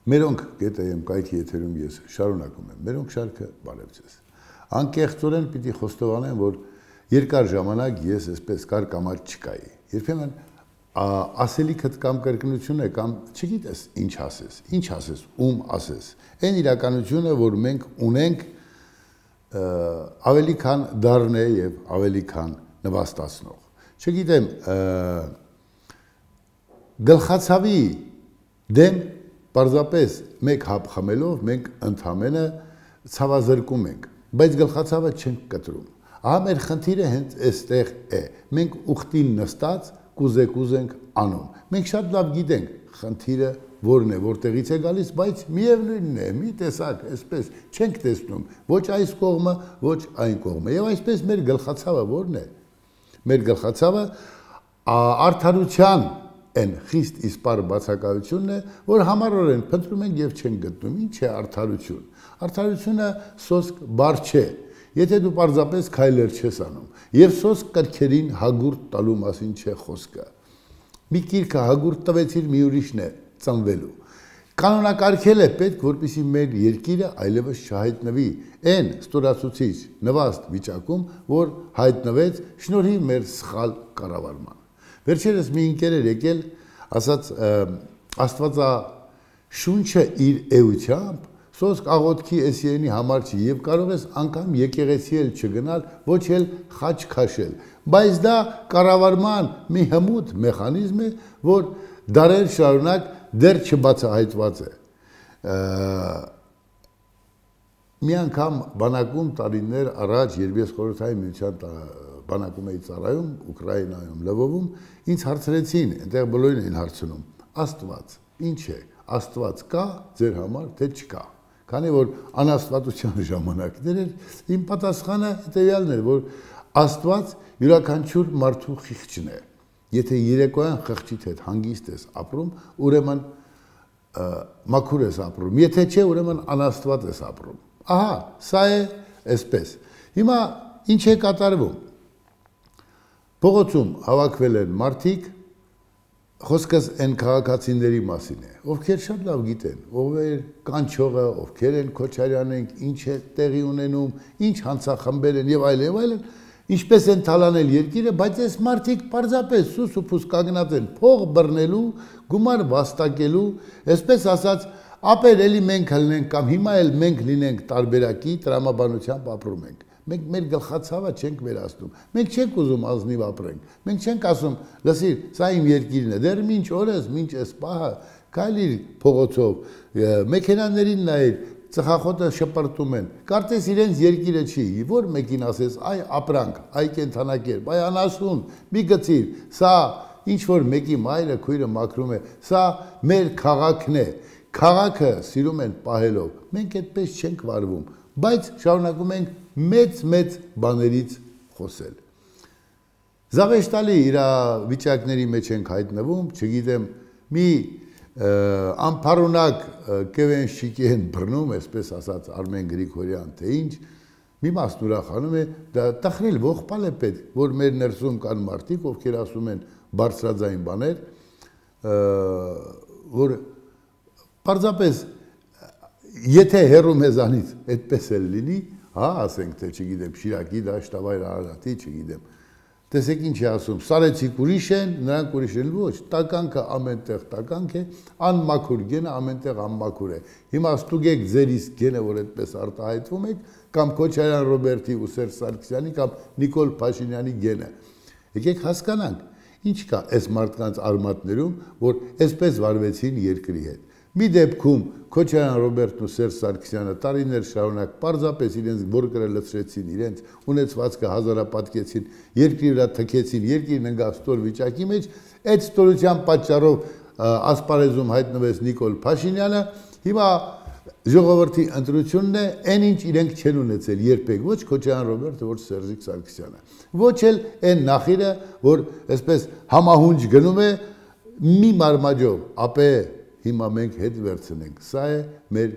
Մերոնք գետայեմ կայքի եթերում ես շարունակում եմ, մերոնք շարքը բարև ձեզ։ Անկեղծորեն պիտի խոստովանեմ, որ երկար ժամանակ ես այսպես կարկամած չկայի։ Երբեմն ասելիքդ կամ կրկնությունը կամ չգիտես ինչ ասես, ում ասես։ Այն իրականությունը, որ մենք ունենք ավելի քան դառն է եւ ավելի քան նվաստացնող։ Չգիտեմ, գլխացավի դեմ պարզապես մեկ հապ խմելով մենք ընդհանրապես ցավազրկում ենք, բայց գլխացավը չենք կտրում։ Ահա մեր խնդիրը հենց այստեղ է։ Մենք ուխտին նստած կուզենք անում։ Մենք շատ լավ գիտենք խնդիրը որն է, որտեղից է գալիս, բայց միևնույնն է, մի տեսակ, այսպես չենք տեսնում, ոչ այս կողմը, ոչ այն կողմը։ Եվ այսպես մեր գլխացավը որն է։ Մեր գլխացավը արդարության այն խիստ իսպար բացակայությունն է, որ համառորեն փնտրում ենք եւ չենք գտնում։ Ինչ է արդարություն։ Արդարությունը սոսկ բառ չէ։ Եթե դու պարզապես քայլեր չես անում, եւ սոսկ կրքերին հագուրտ տալու մասին չէ խոսքը։ Մի գիրքը հագուրտ տվեցիր մի ուրիշն է ծնվելու։ Կանոնակարգել է պետք, որպեսզի մեր երկիրը այլևս չհայտնվի այն ստորացուցիչ նվաստ վիճակում, որ հայտնվեց շնորհիվ մեր սխալ կառավարման։ Վերջերս մի ընկեր էր եկել, ասաց Աստվածաշունչը իր էությամբ սոսկ աղոթքի էսիենի համար չի եւ կարող ես անգամ եկեղեցի էլ չգնալ, ոչ էլ խաչ քաշել, բայց դա կառավարման մի հմուտ մեխանիզմ է, որ դարեր շարունակ դեռ չբացահայտված է։ Մի անգամ բանակում տարիներ առաջ, երբ ես խորհրդային միության բանակում էի ծառայում, Ուկրաինայում, Լվովում, ինձ հարցրեցին, այնտեղ բոլորին էին հարցնում. Աստված, ինչ է, Աստված կա ձեր համար, թե չկա։ Քանի որ անաստվածության ժամանակներ էր, իմ պատասխանը հետևյալն էր, որ Աստված յուրաքանչյուր մարդու խիղճն է։ Եթե երեկոյան խղճիդ հետ հանգիստ ես ապրում, ուրեմն մաքուր ես ապրում, եթե չէ, ուրեմն անաստված ես ապրում։ Ահա, սա է այսպես։ Հիմա ինչ է կատարվում։ Փողոցում հավաքվել են մարդիկ, խոսքս այն քաղաքացիների մասին է, ովքեր շատ լավ գիտեն, ով է կանչողը, ովքեր են Քոչարյանենք, ինչ է տեղի ունենում, ինչ հանցախմբեր են եւ այլն, ինչպես են թալանել երկիրը, բայց այս մարդիկ պարզապես սուս ու փուս կանգնած են փող բռնելու, գումար վաստակելու, այսպես ասած, ապեր էլի մենք լինենք կամ հիմա էլ մենք լինենք տարբերակի տրամաբանությամբ ապրում ենք։ Մենք մեր գլխացավը չենք վերացնում։ Մենք չենք ուզում ազնիվ ապրենք։ Մենք չենք ասում, լսիր, սա իմ երկիրն է, դեռ ինչ օրս, ինչ էս պահը, քայլիր փողոցով, մեքենաներին նայիր, ծխախոտը շպրտում են։ Կարծես իրենց երկիրը չի, որ մեկին ասես, այ ապրանք, այ կենթանակերպ, այ անասուն, մի գցիր, սա ինչ որ մեկի մայրը, քույրը մաքրում է, սա մեր քաղաքն է։ Քաղաքը սիրում են պահելով։ Մենք այդպես չենք վարվում, բայց շարունակում ենք մեծ բաներից խոսել։ Զավեշտալի իրավիճակների մեջ ենք հայտնվում, չգիտեմ, մի անփառունակ կևենշիկի են բռնում, այսպես ասած Արմեն Գրիգորյան, թե ինչ, մի մասն ուրախանում է, դա տխրել ողբալ է պետք, որ մեր ներսում կան մարդիկ, ովքեր ասում են բարձրաձայն բաներ, որ պարզապես եթե հեռու մեզանից այդպես էլ լինի, հա, ասենք, թե չգիտեմ, Շիրակի դաշտավայր Արարատի, չգիտեմ, տեսեք ինչ է ասում, սարեցիք ուրիշ են, նրանք ուրիշ են, ոչ, տականքը ամենտեղ տականք է, անմաքուր գենը ամենտեղ անմաքուր է։ Հիմա ստուգեք ձեր իսկ գենը, որ այդպես արտահայտվում եք, կամ Քոչարյան Ռոբերտի ու Սերժ Սարգսյանի կամ Նիկոլ Փաշինյանի գենը։ Եկեք հասկանանք, ինչ կա այս մարդկանց արմատներում, որ այսպես վարվեցին երկրի հետ։ Մի դեպքում Քոչարյան Ռոբերտն ու Սերժ Սարգսյանը տարիներ շարունակ պարզապես իրենց որկրը լցրեցին, իրենց ունեցվածքը հազարապատկեցին, երկրի վրա թքեցին, երկիրն ընկավ ստոր վիճակի մեջ, այդ ստորության պատճառով ասպարեզում հայտնվեց Նիկոլ Փաշինյանը, հիմա ժողովրդի ընտրությունն է, այն ինչ իրենք չեն ունեցել երբեք, ոչ Քոչարյան Ռոբերտը, ոչ Սերժիկ Սարգսյանը, ոչ էլ այն նախիրը, որ այսպես համահունչ գնում է մի մարմաջով, ապե հիմա մենք հետ վերցնենք, սա է մեր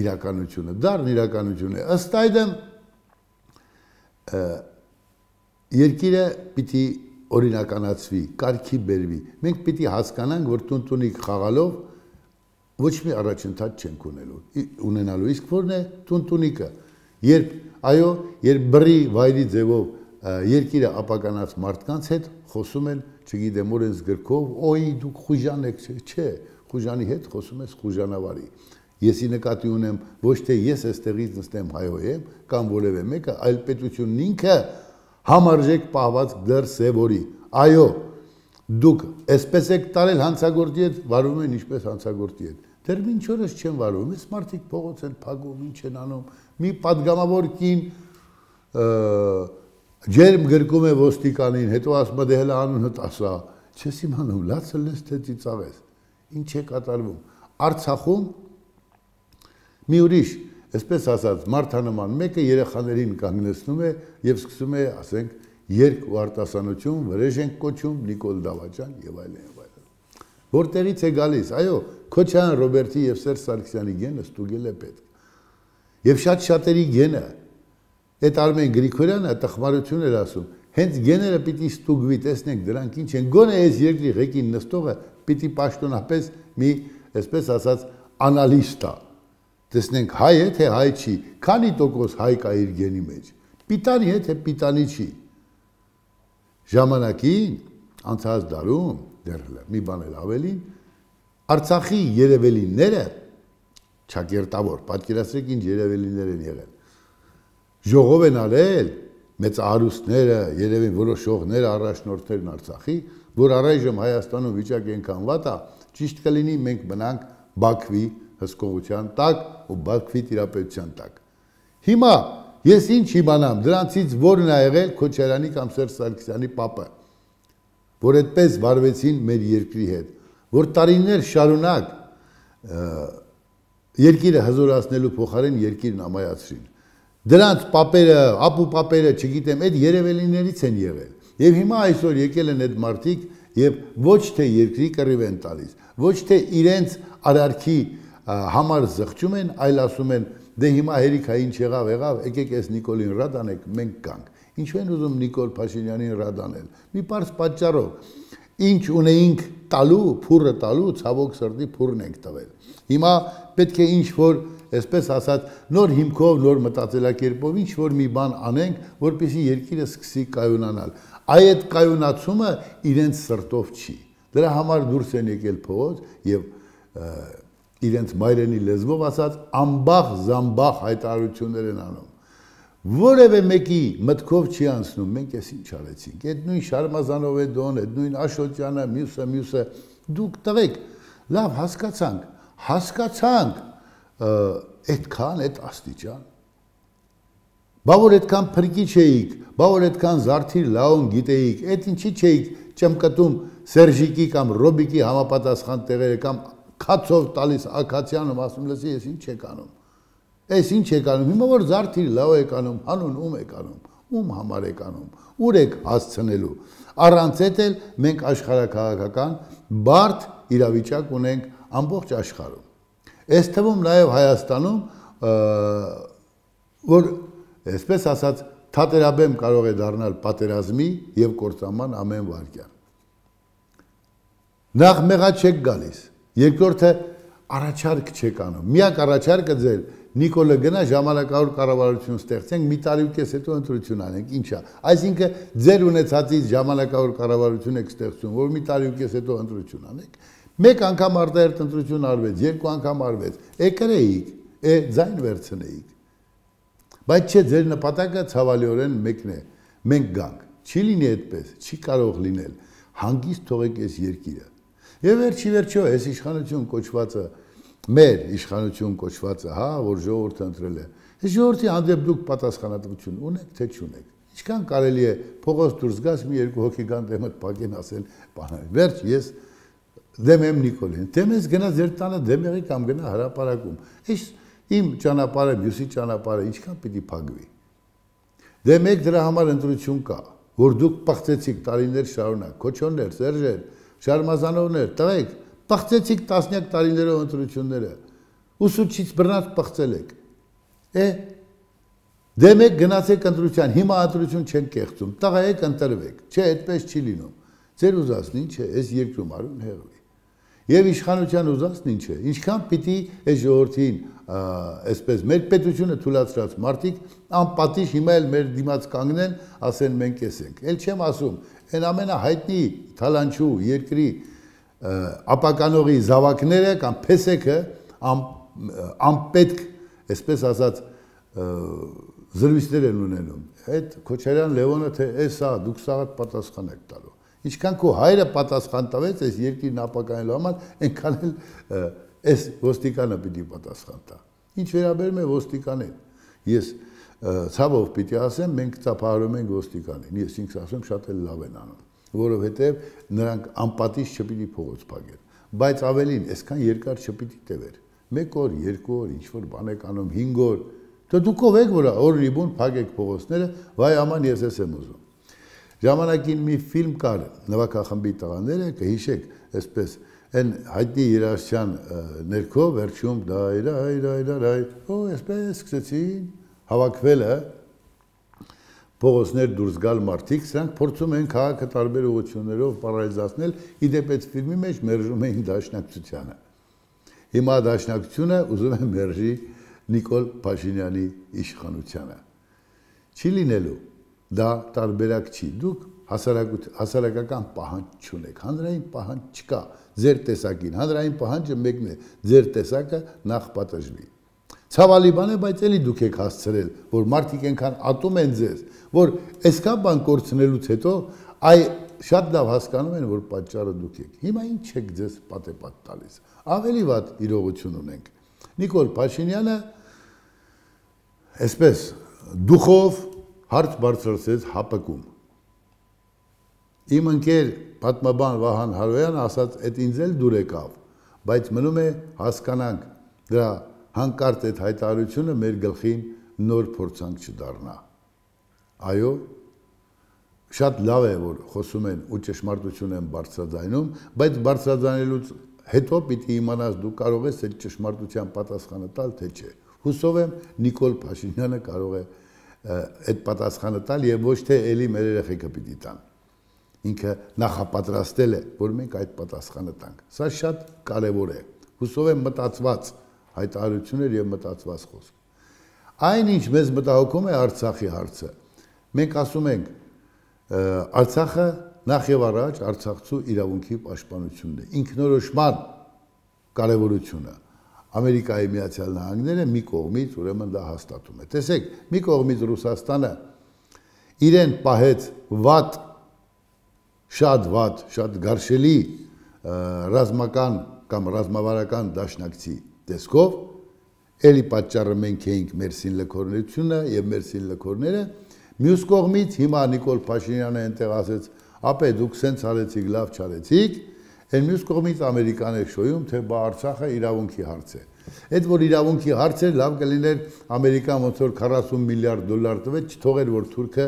իրականությունը, դառն իրականություն է, ըստ այդմ երկիրը պիտի օրինականացվի, կարգի բերվի, մենք պիտի հասկանանք, որ տունտունիկ խաղալով ոչ մի առաջընթաց չենք ունենալու, իսկ որն է տունտունիկը, երբ այո, երբ բռի վայրի ձևով երկիրը ապականած մարդկանց հետ խոսում են, չգիտեմ, օրենս գրքով, օй դուք խուժան եք, չէ, խուժանի հետ խոսում ես խուժանավարի։ Եսի նկատի ունեմ ոչ թե ես այստեղից նստեմ հայոյեմ կամ որևէ մեկը, այլ պետությունն ինքը համարժեք պահված դեռ սևորի։ Այո, դուք այսպես եք տարել հանցագործի հետ, վարվում են ինչպես հանցագործի հետ։ Դեռ մինչ օրս չեն վարվում, այս մարդիկ փողոց են փակում, ինչ են անում։ Մի падգամավոր կին ջերմ գրկում է ոստիկանին, հետո ասում է դե հələ անունդ ասա։ Չես իմանում, լացը լես թե ծիծաղես։ Ինչ է կատարվում։ Արցախում մի ուրիշ, այսպես ասած, մարդանման մեկը երեխաներին կանգնեցնում է եւ սկսում է, ասենք, երգ ու արտասանություն, վրեժ ենք կոչում, Նիկոլ Դավաճան եւ այլն եւ այլն։ Որտեղից է գալիս, այո, Քոչարյան Ռոբերտի եւ Սերժ Սարգսյանի գենը ստուգել է պետք։ Եվ շատ-շատերի գենը, այդ Արմեն Գրիգորյանը տխմարություն էր ասում, հենց գեները պիտի ստուգվի, տեսնենք դրանք ինչ են, գոնե այս երկրի ղեկին նստողը պիտի պաշտոնապես մի, այսպես ասած, անալիստ է։ Տեսնենք հայ է, թե հայ չի, քանի տոկոս հայ կա իր գենի մեջ, պիտանի է, թե պիտանի չի։ Ժամանակին, անցած դարում, դեռ մի բան էլ ավելին, Արցախի երևելիները, ճակերտավոր, պատկերացրեք ինչ երևելիներ են եղել, ժողով են արել, մեծ արուստները, երևին որոշողները, առաջնորդներն Արցախի, որ առայժմ Հայաստանում վիճակը այնքան վատ է, ճիշտ կլինի մենք մնանք Բաքվի հսկողության տակ ու Բաքվի տիրապետության տակ։ Հիմա ես ինչ իմանամ, դրանցից որն է եղել Քոչարյանի կամ Սերժ Սարգսյանի պապը, որ այդպես վարվեցին մեր երկրի հետ, որ տարիներ շարունակ երկիրը հզորացնելու փոխարեն երկիրն ամայացրին։ Դրանց պապերը, ապու պապերը, չգիտեմ, այդ երևելիներից են եղել։ Եվ հիմա այսօր եկել են այդ մարդիկ եւ ոչ թե երկրի կռիվ են տալիս, ոչ թե իրենց արարքի համար զղջում են, այլ ասում են, դե հիմա հերիքա ինչ եղավ, եկեք այս Նիկոլին ռադ անեք, մենք կանք։ Ինչու են ուզում Նիկոլ Փաշինյանին ռադ անել։ Մի պարզ պատճառով, ինչ ունեինք տալու, փուրը տալու, ցավոք սրտի փուրն ենք տվել։ Հիմա պետք է ինչ որ, այսպես ասած, նոր հիմքով, նոր մտածելակերպով ինչ որ մի բան անենք, որպեսզի երկիրը սկսի կայունանալ։ Այդ կայունացումը իրենց սրտով չի։ Դրա համար դուրս են եկել փողոց եւ իրենց մայրենի լեզվով ասած ամբախ զամբախ հայտարարություններ են անում։ Որևէ մեկի մտքով չի անցնում, մենք էս ինչ արեցինք։ Այդ նույն Շարմազանովեդոն, այդ նույն Աշոտյանը, մյուսը, դուք տղեկ, լավ հասկացանք, այդքան, այդ աստիճան։ Բա որ այդքան փրկիչ էիք, բա որ այդքան զարդիր լաուն գիտեիք, այդ ինչի չէիք ճմկտում Սերժիկի կամ Ռոբիկի համապատասխան տեղերը կամ քացով տալիս Ակացյանում, ասում լսի, ես ինչ եք անում։ Այս ինչ եք անում, հիմա որ զարդիր լավ եք անում, հանուն ում եք անում, ում համար եք անում, ուր եք հասցնելու։ Առանց այդ էլ մենք աշխարհաքաղաքական բարդ իրավիճակ ունենք ամբողջ աշխարհում։ Այս թվում նաև Հայաստանում, որ այսպես ասած թատերաբեմ կարող է դառնալ պատերազմի եւ կործանման ամեն վարքյան։ Նախ մեղա չեք գալիս, երկրորդը առաջարկ չեք անում։ Միակ առաջարկը ձեր Նիկոլը գնա ժամանակավոր կառավարություն ստեղծենք, մի տարի ու կես հետո ընտրություն անենք, ինչա։ Այսինքն ձեր ունեցածից ժամանակավոր կառավարություն եք ստեղծում, որ մի տարի ու կես հետո ընտրություն անենք։ Մեկ անգամ արտահերթ ընտրություն արվեց, երկու անգամ արվեց, կրեիք, ձայն վերցնեիք։ Բայց չէ, ձեր նպատակը ցավալիորեն մեկն է, մենք գանք, չի լինի այդպես, չի կարող լինել, հանգիստ թողեք այս երկիրը։ Եվ վերջի, այս իշխանություն կոչվածը, մեր իշխանություն կոչվածը, հա, որ ժողովուրդը ընտրել է, այս ժողովրդի հանդեպ դուք պատասխանատվություն ունեք, թե չունեք։ Ինչքան կարելի է փողոց դուրս գաս մի երկու հոգի գան դեմդ փակեն ասել, բան, վերջ ես դեմ եմ Նիկոլին, դեմ ես գնա ձեր տանը դեմ եղի կամ գնա հրապարակում։ Այս իմ ճանապարհը, մյուսի ճանապարհը ինչքան պիտի փակվի։ Դե մեկ դրա համար ընտրություն կա, որ դուք պղծեցիք տարիներ շարունակ, Քոչոններ, Սերժեր, Շարմազանովներ, տղեկ, պղծեցիք տասնյակ տարիներով ընտրությունները, ուսուցիչ բռնած պղծել եք։ Դե մեկ գնացեք ընտրության, հիմա ընտրություն չեն կեղծում, տղա եք ընտրվեք, չէ, այդպես չի լինում։ Ձեր ուզածն ինչ է, այս երկրում արուն հեղվի։ Եվ իշխանության ուզածն ինչ է, ինչքան պիտի այս ժողովրդին, այսպես մեր պետությունը թույլատրած մարդիկ անպատիժ հիմա էլ մեր դիմաց կանգնեն, ասեն մենք էս ենք։ Էլ չեմ ասում, այն ամենահայտնի թալանչու երկրի ապականողի զավակները կամ փեսեքը անպետք, այսպես ասած, զրույցներ են ունենում։ Այդ Քոչարյան Լևոնը թե էսա դուք սա պատասխան եք տալու։ Ինչքան քո հայրը պատասխան տվեց այս երկիրն ապականելու համար, այնքան էլ այս ոստիկանը պիտի պատասխան տա։ Ինչ վերաբերում է ոստիկանին, ես ցավով պիտի ասեմ, մենք ծափահարում ենք ոստիկանին։ Ես ինքս ասում շատ էլ լավ են անում, որովհետև նրանք անպատիժ չպիտի փողոց փակեն, բայց ավելին, այսքան երկար չպիտի տևեր։ 1 օր, 2 օր, ինչ որ բան եք անում, 5 օր, դե դուք ով եք, որ օրի բուն փակեք փողոցները, վայ աման ես եմ ուզում։ Ժամանակին մի ֆիլմ կար, նվագախմբի տղաները, կհիշեք, այսպես, այն հայտնի երաժշտության ներքո վերջում դայ, այսպես սկսեցին հավաքվելը փողոցներ դուրս գալ մարդիկ, սրանք փորձում են քաղաքը տարբեր ուղղություններով պարալիզացնել, իդեպ այդ ֆիլմի մեջ մերժում էին Դաշնակցությանը։ Հիմա Դաշնակցությունը ուզում է մերժի Նիկոլ Փաշինյանի իշխանությանը։ Չի լինելու, դա տարբերակ չի, դուք հասարակական պահանջ չունեք, հանրային պահանջ չկա ձեր տեսակին, հանրային պահանջը մեկն է, ձեր տեսակը նախ պատժվի։ Ցավալի բան է, բայց էլի դուք եք հասցրել, որ մարդիկ այնքան ատում են ձեզ, որ այսքան բան կորցնելուց հետո այ շատ լավ հասկանում են, որ պատճառը դուք եք։ Հիմա ինչ եք ձեզ պատեպատ տալիս։ Ավելի վատ իրողություն ունենք։ Նիկոլ Փաշինյանը այսպես դուխով հարց բարձրացրեց ՀԱՊԿ-ում։ Իմ ընկեր պատմաբան Վահան Հարոյանը ասաց, այդ ինձ էլ դուր եկավ, բայց մնում է հասկանանք դրա հանկարծ այդ հայտարարությունը մեր գլխին նոր փորձանք չդառնա։ Այո, շատ լավ է, որ խոսում են ու ճշմարտություն են բարձրաձայնում, բայց բարձրաձայնելուց հետո պիտի իմանաս դու կարող ես այդ ճշմարտության պատասխանը տալ, թե չէ։ Հուսով եմ Նիկոլ Փաշինյանը կարող է այդ պատասխանը տալ եւ ոչ թե էլի մեր երեխեքը պիտի տան։ Ինքը նախապատրաստել է, որ մենք այդ պատասխանը տանք։ Սա շատ կարևոր է։ Հուսով եմ մտածված հայտարարություններ եւ մտածված խոսք։ Այնինչ մեզ մտահոգում է Արցախի հարցը։ Մենք ասում ենք Արցախը նախ եւ առաջ արցախցու իրավունքի պաշտպանությունն է, ինքնորոշման կարևորությունը։ Ամերիկայի Միացյալ Նահանգները մի կողմից ուրեմն դա հաստատում է։ Տեսեք, մի կողմից Ռուսաստանը իրեն պահեց վատ, շատ գարշելի ռազմական կամ ռազմավարական դաշնակցի տեսքով, էլի պատճառը մենք էինք մեր սինլքորներությունը եւ մեր սինլքորները, մյուս կողմից հիմա Նիկոլ Փաշինյանը այնտեղ ասեց, ապե դուք սենց արեցիք, լավ չարեցիք, այն մյուս կողմից Ամերիկան է շոյում, թե բա Արցախը իրավունքի հարց է։ Այդ որ իրավունքի հարց է, լավ կլիներ Ամերիկան ոնց որ 40 միլիարդ դոլար տվեց, չթողեր որ թուրքը,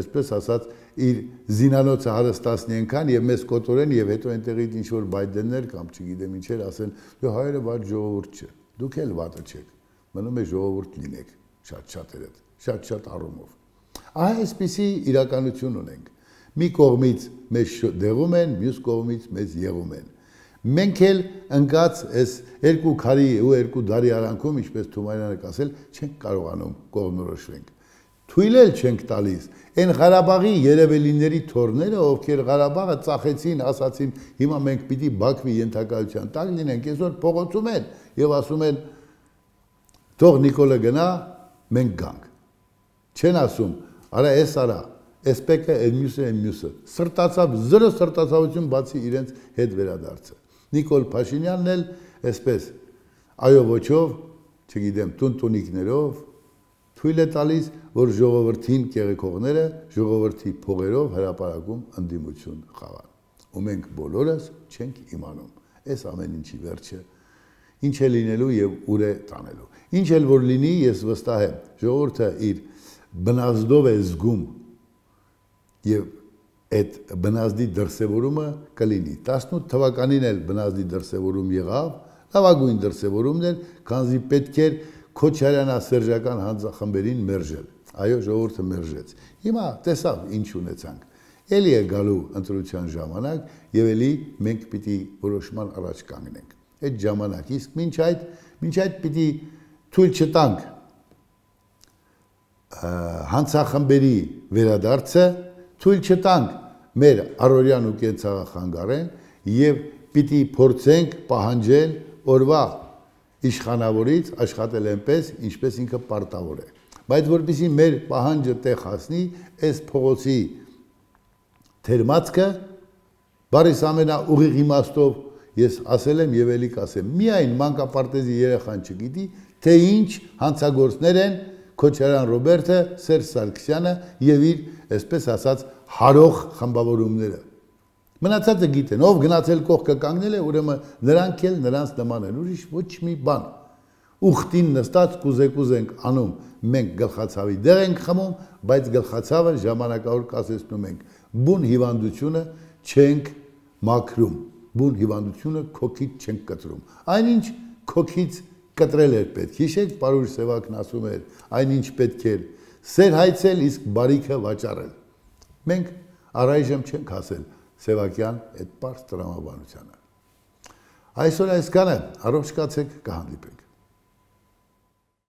այսպես ասած, իր զինանոցը հարստացնի այնքան եւ մեզ կոտորեն եւ հետո այնտեղից ինչ որ բայդեններ կամ չգիտեմ ինչեր ասեն, դու հայերը վատ ժողովուրդ չէ, դուք էլ վատը չեք, մնում է ժողովուրդ լինեք, շատ-շատերը, շատ առումով։ Այսպիսի իրականություն ունենք։ Մի կողմից մեզ դեղում են, մյուս կողմից մեզ եղում են։ Մենք էլ ընկած այս երկու քարի ու երկու դարի արանքում, ինչպես Թումանյանը ասել, չենք կարողանում կողմնորոշվենք։ Թույլ էլ չենք տալիս։ Այն Ղարաբաղի երևելիների թորները, ովքեր Ղարաբաղը ծախեցին, ասացին, հիմա մենք պիտի Բաքվի ենթակայության տակ լինենք, այսօր փողոցում են եւ ասում են, թող Նիկոլը գնա, մենք գանք։ Չեն ասում, արա էս արա, էսպեկը այն մյուսը, սրտացավ, զրո սրտացավություն բացի իրենց հետ վերադարձը։ Նիկոլ Փաշինյանն էլ այսպես, այո ոչով, չգիտեմ, տունտունիկներով, թույլ է տալիս, որ ժողովրդին կեղեքողները ժողովրդի փողերով հրապարակում ընդդիմություն խաղան։ Ու մենք բոլորս չենք իմանում, այս ամեն ինչի վերջը, ինչ է լինելու եւ ուր է տանելու։ Ինչ էլ որ լինի, ես վստահ եմ, ժողովուրդը իր բնազդով է զգում եւ այդ բնազդի դրսևորումը կլինի։ 18 թվականին էլ բնազդի դրսևորում եղավ, լավագույն դրսևորումն էր, քանզի պետք էր Քոչարյանա-սերժական հանձնախմբերին մերժել։ Այո, ժողովուրդը մերժեց։ Հիմա տեսավ ինչ ունեցանք։ Էլի է գալու ընտրության ժամանակ եւ էլի մենք պիտի որոշման առաջ կանգնենք։ Այդ ժամանակ իսկ մինչ այդ պիտի թույլ չտանք հանցախմբերի վերադարձը, թույլ չտանք մեր առօրյան ու կենցաղախանգարեն եւ պիտի փորձենք պահանջել օրվա իշխանավորից աշխատել այնպես, ինչպես ինքը պարտավոր է։ Բայց որպեսզի մեր պահանջը տեղ հասնի, այս փողոցի թերմացքը բարիս ամենաուղիղ իմաստով ես ասել եմ եւ ելի կասեմ, միայն մանկապարտեզի երեխան չգիտի, թե ինչ հանցագործներ են Քոչարյան Ռոբերտը, Սերժ Սարգսյանը եւ իր, այսպես ասած, հարող խմբավորումները։ Մնացածը գիտեն, ով գնացել կողքը կանգնել է, ուրեմն նրանք էլ նրանց նման են, ուրիշ ոչ մի բան։ Ուխտին նստած կուզեկուզ ենք անում, մենք գլխացավի դեղ ենք խմում, բայց գլխացավը ժամանակավոր կասեցնում ենք, բուն հիվանդությունը չենք մաքրում, բուն հիվանդությունը քոքից չենք կտրում։ Այնինչ քոքից կտրել էր պետք։ Հիշեք, պարուր Սևակն ասում էր, այնինչ պետք էր սեր հայցել, իսկ բարիքը վաճառել։ Մենք առայժմ չենք հասել Սևակյան այդ պարզ տրամաբանությանը։ Այսօր այսքանը, առողջ կացեք, կհանդիպենք։